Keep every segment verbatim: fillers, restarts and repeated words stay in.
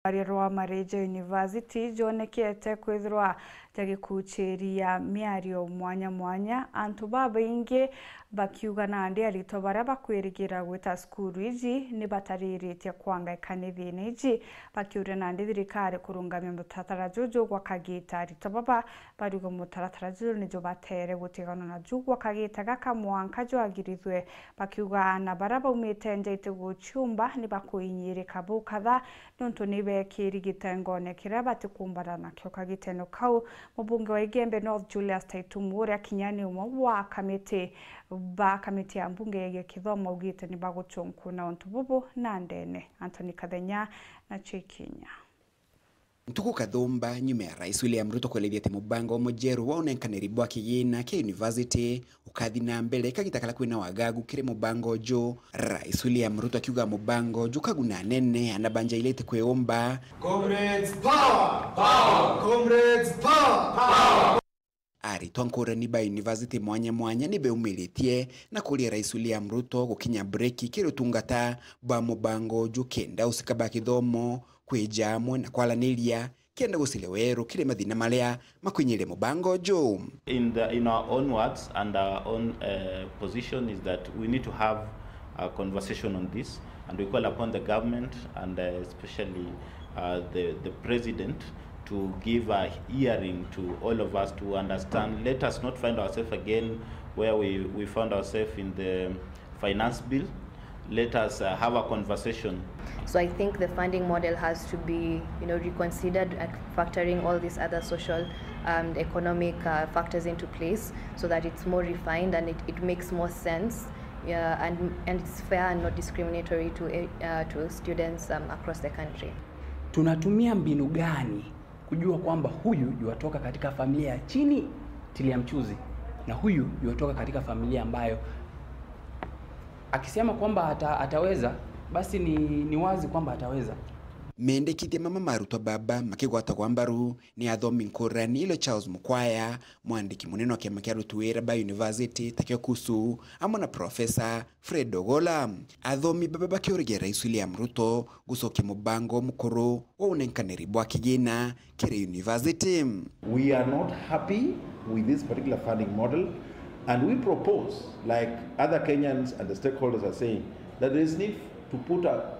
Rwaria rwa Marija University jwonekete kwithirwa jagikuchiria miario mwanya mwanya, antu babaingi bakiuga nandi aritwa baria bakwirigira gwita cukuru iji ni batariritie kwangaika ni thina iji, bakiuria nandi thirikari kurungamia mutaratara juju gwa kagita. Aritwa baba bariuga mutaratara juju nijo batere gutigana naju gwa kagita gaka mwanka jwagirithwe, bakiuga aana baria baumite nja iti guciumba ni bakuinyirika bukatha, niuntu ni bekiri gitengone kiria batikumbana nakio kagitene kau. Mubunge wa Igembe North Julius Taitumu, uria kinya ni umwe wa kamiti ba kamiti ya mbunge yegie kithomo, augite ni baguchunkuna untu bubu na ndene. Anthony Kathenya na Chikinya. Ntuku kathumba nyuma ya Rais William Ruto kuelethia ati mubango mujeru wa unenkaniri bwa kigina kia university ukathi na mbere kagita karia kwina wagagu kiri mubango uju. Rais William Ruto akiuga mubango uju ukaguna anene ana banja ile iti kwiumba. Comrades power! Power! Comrades power! Power! Aritwa nkurani ba university mwanya mwanya ni beumiritie na kuria Rais William Ruto gukinya breki kiri utungata bwa mubango uju kenda usika ba kithomo kwija amwe na kwaraniria kenda guciria weru kiri mathina maria makwinyiria mubango uju. In the, in our own words and our own, uh, position is that we need to have a conversation on this, and we call upon the government and, uh, especially, uh, the, the president to give a hearing to all of us to understand. Let us not find ourselves again where we, we found ourselves in the finance bill. Let us, uh, have a conversation. So I think the funding model has to be, you know, reconsidered and factoring all these other social and economic, uh, factors into place so that it's more refined and it, it makes more sense, yeah, and, and it's fair and not discriminatory to, uh, to students, um, across the country. Tunatumia mbinu gani kujua kwamba huyu yuatoka katika familia ya chini tilia mchuzi na huyu yuatoka katika familia ambayo akisema kwamba ata-, ataweza, basi ni, ni wazi kwamba ataweza. Mendekithia mama ma arutwa baba makigwatagwa mbaru ni athomi nkurani ile Charles Mukwaya, mwandiki munene wa kiama kia aruti wira ba university takio KUSU, amwe na Profesa Fred Ogola. Athomi baba bakiurigia Rais William Ruto gucokia mubango mukuru wa unenkaniri bwa kigina kiri university. We are not happy with this particular funding model, and we propose, like other Kenyans and the stakeholders are saying, that there is need to put a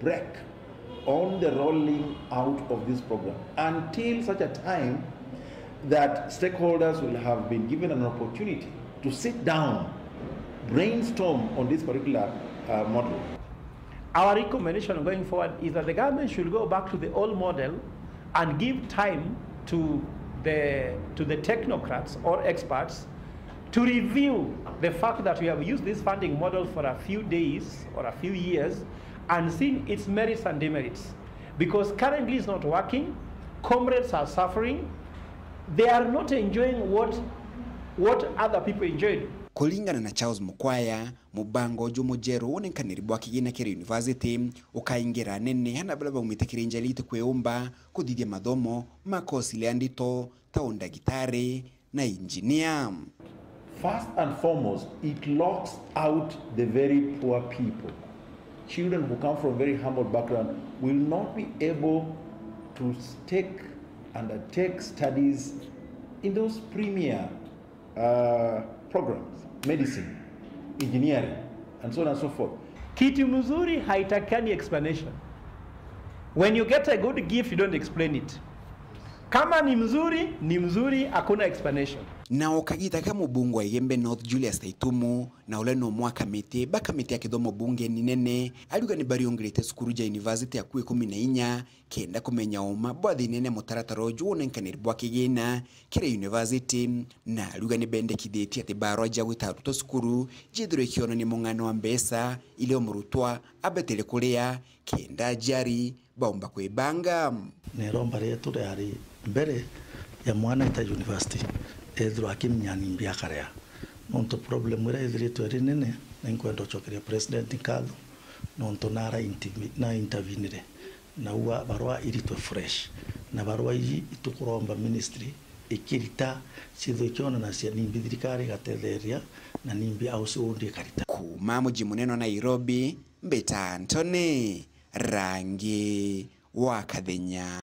brake on the rolling out of this program until such a time that stakeholders will have been given an opportunity to sit down, brainstorm on this particular, uh, model. Our recommendation going forward is that the government should go back to the old model and give time to the, to the technocrats or experts to review the fact that we have used this funding model for a few days or a few years and seen its merits and demerits. Because currently it's not working, comrades are suffering, they are not enjoying what, what other people enjoyed. Kuringana na Charles Mukwaya, mubango uju mujeru wa unenkaniri bwa kigina kiri university ukaingira anene ana baria baumite kiri nja iria itikwiumba kuthithia mathomo ma kosi iria ndito ta undagitari na injinia. First and foremost, it locks out the very poor people. Children who come from very humble background will not be able to take, undertake studies in those premier, uh, programs, medicine, engineering, and so on and so forth. Kitu mzuri haitakani explanation. When you get a good gift, you don't explain it. Kama ni mzuri, ni mzuri, hakuna explanation. Nao kagita ka mubunge wa Igembe North Julius Taitumu, na uria ni umwe wa kamiti ba kamiti ya kithomo bungeni nene, ariuga ni bariungirite cukuru ja university akui ikumi na inya kenda kumenya uma bwa thina na mutaratara uju wa unenkaniri bwa kigina kiri university, na ariuga ni bendekithitie ati barua ja gwita arutwa cukuru jithirwe ikionania mung'ano wa mbeca iria murutwa abetere kuria kenda aciari baumba kwibanga. Ni iromba rietu riari mbere ya mwana aita university, ethirwa akimenya nimbi akaria. Nontu problem iria ithiritwe iri nene, ni nkwenda ucokeria president nkatho, nontu nara intervi-, na intervenire, na ua barua iritwe fresh. Na barua iji itukuromba ministry ikirita, cithwe ikionanacia nimbi thirikari igatetheria, na nimbi house indi ikarita. Kuuma muji munene wa Nairobi, mbita Anthony Rangi wa Kathenya.